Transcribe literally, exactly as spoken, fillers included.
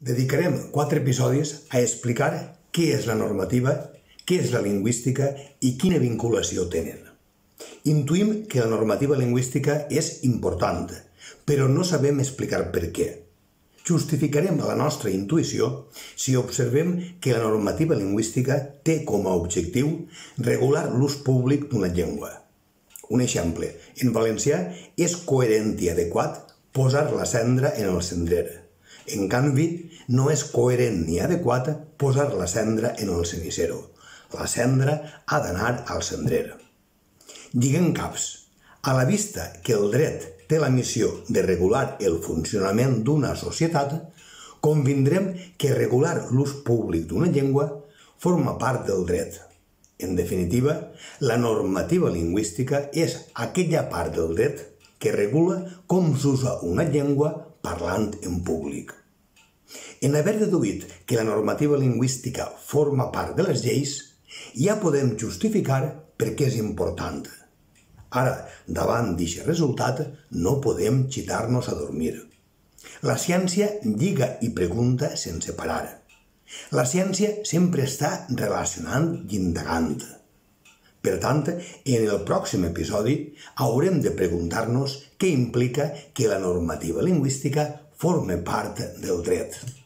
Dedicarem quatre episodis a explicar què és la normativa, què és la lingüística i quina vinculació tenen. Intuïm que la normativa lingüística és important, però no sabem explicar per què. Justificarem la nostra intuïció si observem que la normativa lingüística té com a objectiu regular l'ús públic d'una llengua. Un exemple, en valencià és coherent i adequat posar la cendra en el cendrer. En canvi, no és coherent ni adequat posar la cendra en el cenicero. La cendra ha d'anar al cendrer. Lliguen caps. A la vista que el dret té la missió de regular el funcionament d'una societat, convindrem que regular l'ús públic d'una llengua forma part del dret. En definitiva, la normativa lingüística és aquella part del dret que regula com s'usa una llengua parlant en públic. En haver deduït que la normativa lingüística forma part de les lleis, ja podem justificar per què és important. Ara, davant d'aquest resultat, no podem xitar-nos a dormir. La ciència lliga i pregunta sense parar. La ciència sempre està relacionant i indagant. Per tant, en el pròxim episodi haurem de preguntar-nos què implica que la normativa lingüística forme part del dret.